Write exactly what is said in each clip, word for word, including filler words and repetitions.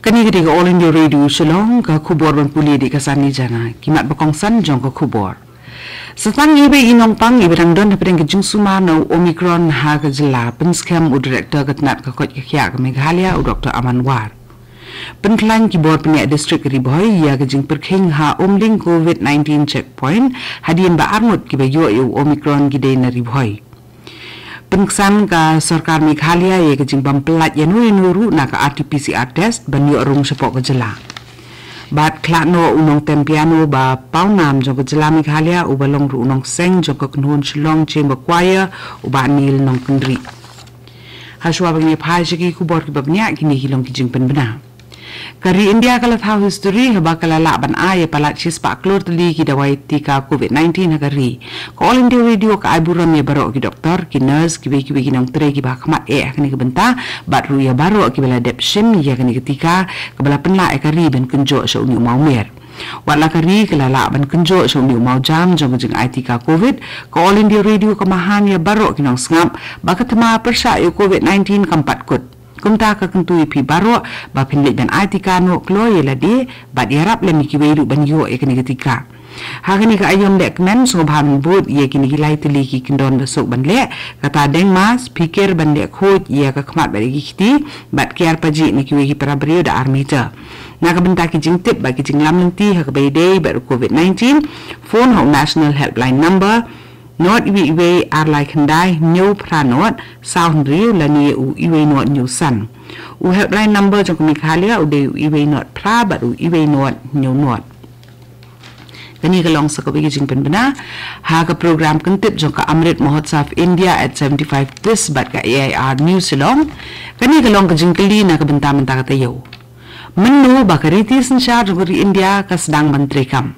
Kane ka dei ka All India Radio Shillong, ka khubor ban pule da ka Sani Jana, ki mat ba kongsan jong ka khubor. Sa tang iwei i nongpang iba dang don hapdeng ka jingsumar na u Omicron ha ka jylla, pynskhem u Director ka tnat ka koit ka khiah ka Meghalaya, u Doktor Aman War. Pynkhlaiñ ki bor pynïaid district Ri Bhoi ïa ka jingpyrkhing ha Umling COVID nineteen checkpoint, hadien ba arngut kiba ïoh ïa u Omicron ki dei na Ri Bhoi. Pynksan ka sorkar Meghalaya ïa ka jingbym pyllait ïano ïano ruh na ka R T P C R test ban ïoh rung shapoh ka jylla. Bad khlad noh u nongtem piano ba pawnam jong ka jylla Meghalaya uba long ruh u nongseng jong ka kynhun Shillong Chamber Choir, u Bah Neil Nongkynrih. Hashwa ba ngin ïa phai sha ki khubor kiba bniah, kine ki long ki jingpynbna. Ka ri India ka la thaw history haba ka la lah ban ai ïa palat shispah klur tylli ki dawai tika COVID nineteen ha ka ri. Ka All India Radio ka ai burom ïa baroh ki doktor, ki nurse, kiwei kiwei ki nongtrei kiba ha khmat eh ha kane ka bynta, bad ruh ïa baroh kiba la dep shim ïa kane ka tika kaba la pynlah ïa ka ri ban kynjoh sha une u mawmer. Wat la ka ri ka la lah ban kynjoh sha une u mawjam jong ka jingai tika COVID, ka All India Radio ka maham ïa baroh ki nongsngap ba ka thma pyrshah ïa u COVID nineteen kam pat kut. Kumta ka kyntu ïa phi baroh ba phin leit ban ai tika noh kloi ïa lade bad ïarap lem ïa kiwei ruh ban ïoh ïa kane ka tika. Ha kane ka aïom lehkmen sngewbha ban bud ïa kine ki lai tylli ki kyndon ba suk ban leh, kata deng mask, phikir ban leh khuid ïa ka khmat bad ïa ki kti, bad kiar pajih na kiwei ki para briew da ar meter. Na ka bynta ki jingtip bad ki jinglam lynti ha kaba ïadei bad u COVID nineteen, phone ha u National Helpline Number, not iwei iwei ar lai khyndai hynñiew phra not saw hynriew lane u iwei not hynñiew san. U helpline number jong ka Meghalaya u dei u iwei not phra bad u iwei not hynñiew not. Kane ka long sa kawei ka jingpynbna ha ka program kyntip jong ka Amrit Mahotsav India at seventy-five This bad ka A I R News Shillong. Kane ka long ka jingkylli na ka bynta mynta ka taïew. Mynno ba ka riti synshar jong ka ri India ka sdang ban treikam?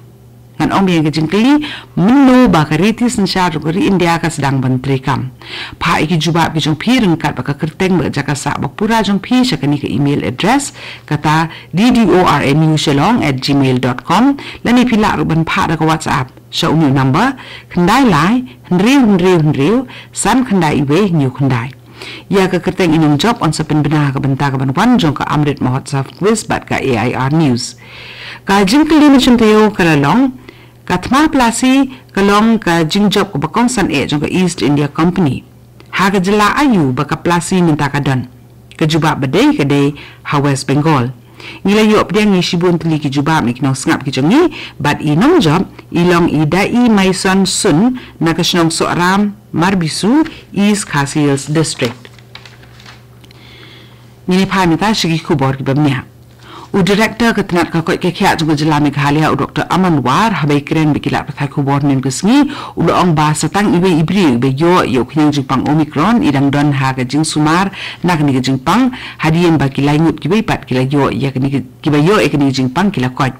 Ngan ong biang ka jingkylli, mynno ba ka riti synshar jong ka ri India ka sdang ban treikam? Phah ïa ki jubab ki jong phi ryngkat bad ka kyrteng bad ka jaka sah ba pura jong phi sha kane ka email address, kata D D O R N U Shillong at gmail dot com, lane phi lah ruh ban phah da ka WhatsApp sha une u number, khyndai lai hynriew hynriew hynriew san khyndai iwei hynñiew khyndai. Ïa ka kyrteng i nongjop yn sa pynbna ha ka bynta ka ban wan jong ka Amrit Mahotsav Quiz bad ka A I R News. Ka jingkylli mynshem taïew ka la long, ka thma plastik ka long ka jingjop kaba kongsan eh jong ka East India Company. Ha ka jylla aïu ba ka plastik mynta ka don? Ka jubab ba dei ka dei ha West Bengal. Ngi la ïoh pdiang ïa shibun tylli ki jubab na ki nongsngap ki jong ngi, bad i nongjop i long i Dai Maison Sun na ka shnong Sohram, Marbisu, East Khasi Hills District. Ngin ïa phai mynta sha ki khubor kiba bniah. U Director ka tnat ka koit ka khiah jong ka jylla Meghalaya, u Doktor Aman War, haba ïakren bad ki lad pathai khubor hynnin ka sngi, u la ong ba sa tang iwei i briew iba ïoh ïa u khñiang jingpang Omicron i dang don ha ka jingsumar na kane ka jingpang, hadien ba ki lai ngut kiwei pat ki la ïoh ïa kane ka, kiba ïoh ïa kane ka jingpang ki la koit.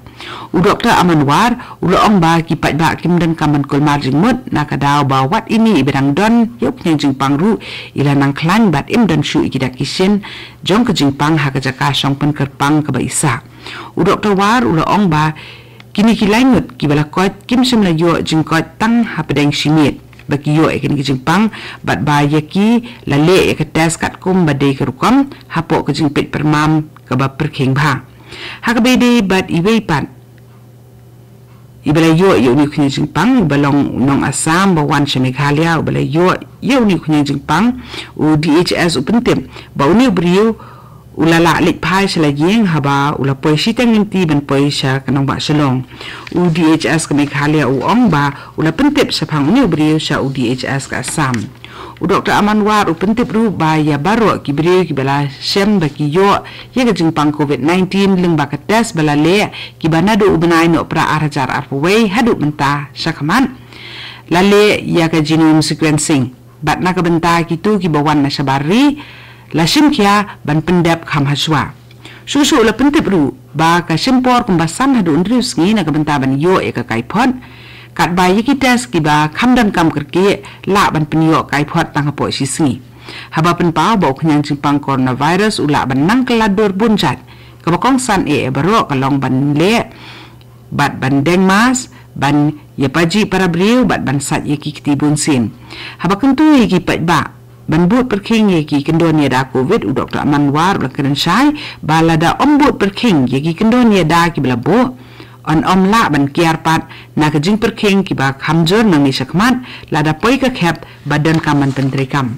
U Doktor Aman War u la ong ba ki paidbah kim donkam ban kulmar jingmut na ka daw ba wat ine iba dang don ïa u khñiang jingpang ruh i la nang khlaiñ bad im don shuh ïa ki dak ki shin jong ka jingpang ha ka jaka shong pynkyrpang kaba i sah. U Doktor War u la ong ba kine ki lai ngut kiba la koit kim shym la ïoh jingkoit tang hapdeng shi miet ba ki ïoh ïa kane ka jingpang, bad ba ïa ki la leh ïa ka test katkum ba dei ka rukom hapoh ka jingpeit pyrmam kaba pyrkhing bha. Ha kaba ïadei bad iwei pat iba la ïoh ïa une u khñiang jingpang, uba long u nong Assam ba wan sha Meghalaya uba la ïoh ïa une u khñiang jingpang, u D H S u pyntip ba une u briew u la lah leit phai sha la ïing haba u la poi shiteng lynti ban poi sha ka nongbah Shillong. U D H S ka Meghalaya u ong ba u la pyntip shaphang une u briew sha u D H S ka Assam. U Doktor Aman War u pyntip ruh ba ïa baroh ki briew kiba la shem ba ki ïoh ïa ka jingpang COVID nineteen lyngba ka test ba la leh, kiba naduh u bnai Nohprah ar hajar arphew wei haduh mynta shakhmat, la leh ïa ka genome sequencing. Bad na ka bynta kito kiba wan na shabar ri, la shim khia ban pyndep kham hashwa. Shuh shuh la pyntip ruh ba ka shim por kumba san haduh hynriew sngi na ka bynta ban ïoh ïa ka kaiphod, katba ïa ki test kiba kham donkam kyrkieh lah ban pynïoh kaiphod tang hapoh shi sngi. Haba pynpaw ba u khñiang jingpang coronavirus u lah ban nang kylla dur bun jait, kaba kongsan eh ïa baroh ka long ban leh bad ban deng mask, ban ïa pajih para briew bad ban sait ïa ki kti bunsien. Haba kyntu ïa ki paidbah ban bud pyrkhing ïa ki kyndon ïada covid, u Doktor Aman War u la kren shai ba lada ym bud pyrkhing ïa ki kyndon ïada kiba la buh, yn ym lah ban kiar pat na ka jingpyrkhing kiba kham jur nangne shakhmat lada poi ka khep ba donkam ban pyntreikam.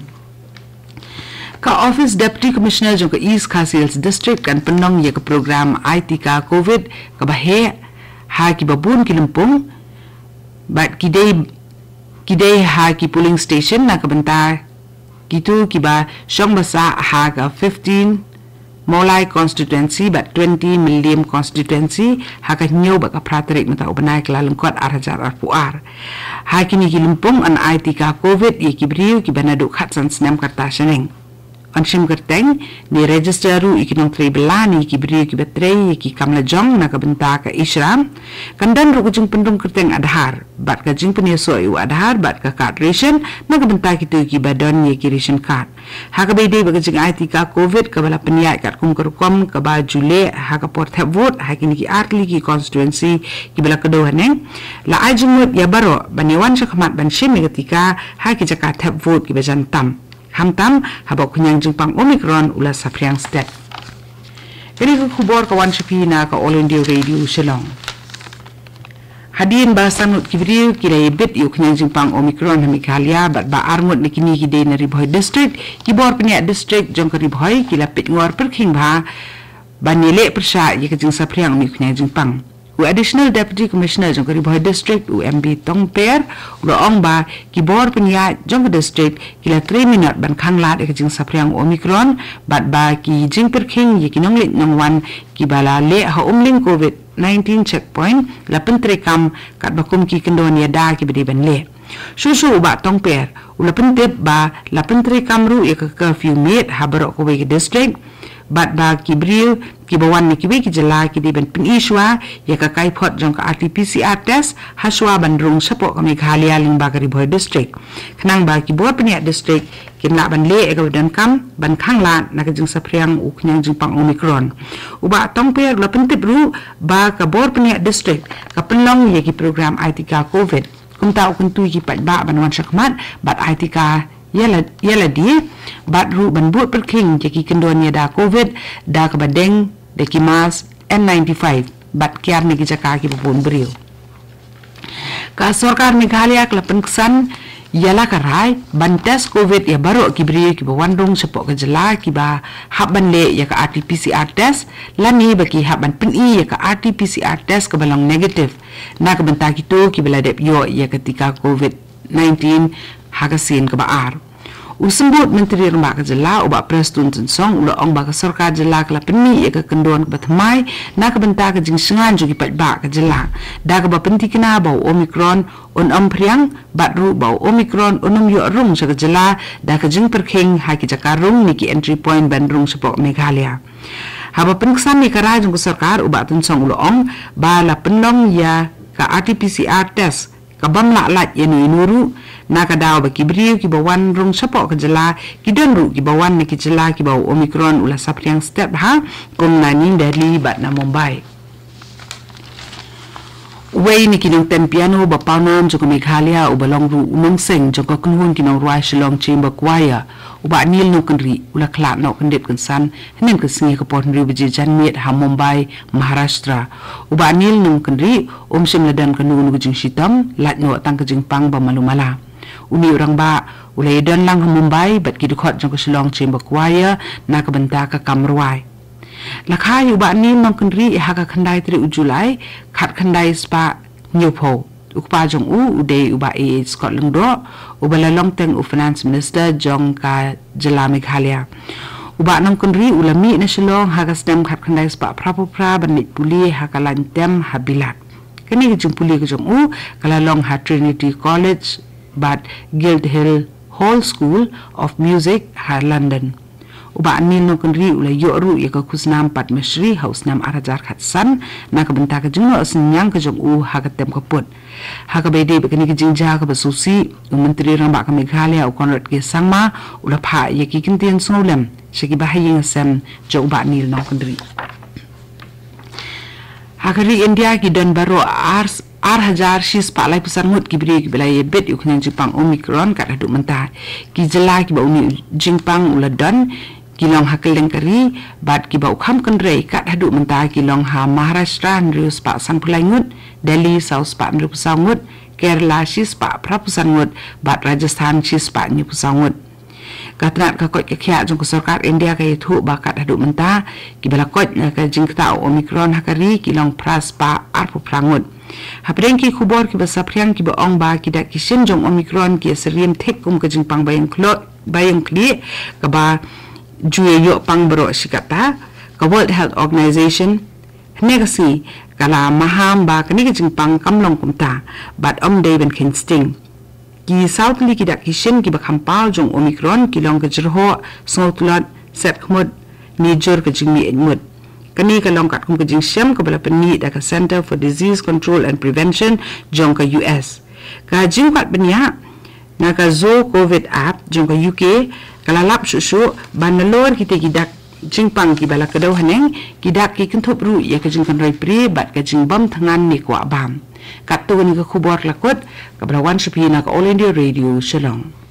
Ka Office Deputy Commissioner jong ka East Khasi Hills District kan pynlong ïa ka program Ai Tika covid kaba heh ha kiba bun ki lympung bad ki dei ki dei ha ki polling station na ka bynta kito kiba shong basa ha ka fifteen Mawlai constituency bad twenty Mylliem constituency ha ka hynñiew bad ka phra tarik mynta u bnai Kyllalyngkot ar hajar arphew ar. Ha kine ki lympung yn ai tika covid ïa ki briew kiba naduh khatsan snem kata shaneng. Yn shim kyrteng ne register ruh ïa ki nongtrei bylla ne ïa ki briew kiba trei ïa ki kam lajong na ka bynta ka e-Shram. Kan don ruh ka jingpynrung kyrteng Aadhaar bad ka jingpynïasoh ïa u Aadhaar bad ka kad ration na ka bynta kito kiba don ïa ki ration card. Ha kaba ïadei bad ka jingai tika covid kaba la pynïaid katkum ka rukom kaba ju leh ha ka por thep vote ha kine ki artylli ki constituency kiba la kdew haneng, la ai jingmut ïa baroh ban ïawan shakhmat ban shim ïa ka tika ha ki jaka thep vote kiba jan tam, khamtam haba u khñiang jingpang Omicron u la saphriang stet. Kane ka khubor ka wan sha phi na ka All India Radio Shillong. Hadien ba san ngut ki briew ki la ïabit ïa u khñiang jingpang Omicron ha Meghalaya bad ba ar ngut na kine ki dei na Ri Bhoi District, ki bor pynïaid district jong ka Ri Bhoi ki la peit ngor pyrkhing bha ban ïaleh pyrshah ïa ka jingsaphriang ïa u khñiang jingpang. U Additional Deputy Commissioner jong ka Ri Bhoi District, u M B Tongper, u la ong ba ki bor pynïaid jong ka district ki la trei minot ban khanglad ïa ka jingsaphriang Omicron bad ba ki jingpyrkhing ïa ki nongleit nongwan kiba la leh ha Umling covid nineteen checkpoint la pyntreikam katba kum ki kyndon ïada kiba dei ban leh. Shuh shuh u Bah Tongper u la pyntip ba la pyntreikam ruh ïa ka curfew miet ha baroh kawei ka district bad ba ki briew kiba wan na kiwei ki jylla ki dei ban pyni shuwa ïa ka kaiphod jong ka R T P C R test ha shuwa ban rung shapoh ka Meghalaya lyngba ka Ri Bhoi District, khnang ba ki bor pynïaid district kin lah ban leh ïa kaba donkam ban khanglad na ka jingsaphriang u khñiang jingpang Omicron. U Bah Tongper u la pyntip ruh ba ka bor pynïaid district ka pynlong ïa ki program ai tika covid. Kumta u kyntu ïa ki paidbah ban wan shakhmat bad ai tika ïa la ïa lade bad ruh ban bud pyrkhing ïa ki kyndon ïada covid da kaba deng da ki mask N ninety-five bad kiar na ki jaka kiba bun briew. Ka sorkar Meghalaya ka la pynksan ïa la ka rai ban test covid ïa baroh ki briew kiba wan rung shapoh ka jylla kiba hap ban leh ïa ka R T P C R test lane ba ki hap ban pyni ïa ka R T P C R test kaba long negative na ka bynta kito kiba la dep ïoh ïa ka tika covid nineteen ha ka sien kaba ar. U Symbud Myntri Rangbah ka jylla u Bah Prestone Tynsong u la ong ba ka sorkar jylla ka la pynmih ïa ka kyndon kaba thymmai na ka bynta ka jingshngaiñ jong ki paidbah ka jylla da kaba pynthikna ba u Omicron un ym phriang bad ruh ba u Omicron un ym ïoh rung sha ka jylla da ka jingpyrkhing ha ki jaka rung ne ki entry point ban rung shapoh Meghalaya. Haba pynksan ïa ka rai jong ka sorkar u Bah Tynsong u la ong ba la pynlong ïa ka R T P C R test ka bym lah lait ïano ïano ruh na ka daw ba ki briew kiba wan rung shapoh ka jylla ki don ruh kiba wan na ki jylla kiba u Omicron u la saphriang stet bha kum na New Delhi bad na Mumbai. Uwei na ki nongtem piano ba pawnam jong ka Meghalaya uba long ruh u nongseng jong ka kynhun ki nongrwai Shillong Chamber Choir, u Bah Neil Nongkynrih u la khlad noh kyndit kynsan hynnin ka sngi ha ka por hynriew baje janmiet ha Mumbai, Maharashtra. U Bah Neil Nongkynrih um shym la don kano kano ka jingshitom, lait noh tang ka jingpang ba malu mala. Une u rangbah u la ïadon lang ha Mumbai bad ki dkhot jong ka Shillong Chamber Choir na ka bynta ka kam rwai. La kha ïa u Bah Neil Nongkynrih ha ka khyndai tarik u July, khatkhyndai spah hynñiewphew. U kpa jong u u dei u Bah A H Scott Lyngdoh, uba la long teng u Finance Minister jong ka jylla Meghalaya. U Bah Nongkynrih u la mih na Shillong ha ka snem khatkhyndai spah phraphew phra ban leit pule ha ka lain tem ha Bilat. Kane ka jingpule ka jong u ka la long ha Trinity College bad Guildhall School of Music ha London. U Bah Neil Nongkynrih u la ïoh ruh ïa ka khusnam Padma Shri ha u snem ar hajar khatsan na ka bynta ka jingnoh synñiang ka jong u ha ka tem ka put. Ha kaba ïadei bad kane ka jingjia kaba sngewsih, u Myntri Rangbah ka Meghalaya u Conrad K Sangma u la phah ïa ki kyntien sngewlem sha ki bahaïing hasem jong u Bah Neil Nongkynrih. Ha ka ri India ki don baroh ar ar hajar shi spah laiphew san ngut ki briew kiba la ïabit ïa u khñiang jingpang Omicron kat haduh mynta. Ki jylla kiba une u jingpang u la don ki long ha kylleng ka ri, bad kiba u kham kynrei kat haduh mynta ki long ha Maharashtra hynriew spah sanphew lai ngut, Delhi saw spah hynriewphew saw ngut, Kerala shi spah phraphew san ngut, bad Rajasthan shi spah hynñiewphew saw ngut. Ka tnat ka koit ka khiah jong ka sorkar India ka ïathuh ba kat haduh mynta kiba la koit na ka jingktah u Omicron ha ka ri ki long phra spah arphew phra ngut. Hapdeng ki khubor kiba saphriang kiba ong ba ki dak ki shin jong Omicron ki ïasyriem thik kum ka jingpang ba ïeng khlo-, ba ïeng khlieh kaba ju ïoh pang baroh shi katta, ka World Health Organization hynne ka sngi ka la maham ba kane ka jingpang kam long kumta bad ym dei ban kheiñ sting. Ki saw tylli ki dak ki shin kiba kham paw jong Omicron ki long ka jyrhoh, sngewtlot, set khmut, ne jur ka jingmih eit mut. Kane ka long katkum ka jingshem kaba la pynmih da ka Center for Disease Control and Prevention jong ka U S. Ka jingkwah bniah na ka Zo Covid app jong ka U K ka la lap shuh shuh ba nalor kita ki dak jingpang kiba la kdew haneng, ki dak ki kynthup ruh ïa ka jingkynroi prie bad ka jingbam thngan ne kwah bam. Katto kane ka khubor la kut kaba la wan sha phi na ka All India Radio Shillong.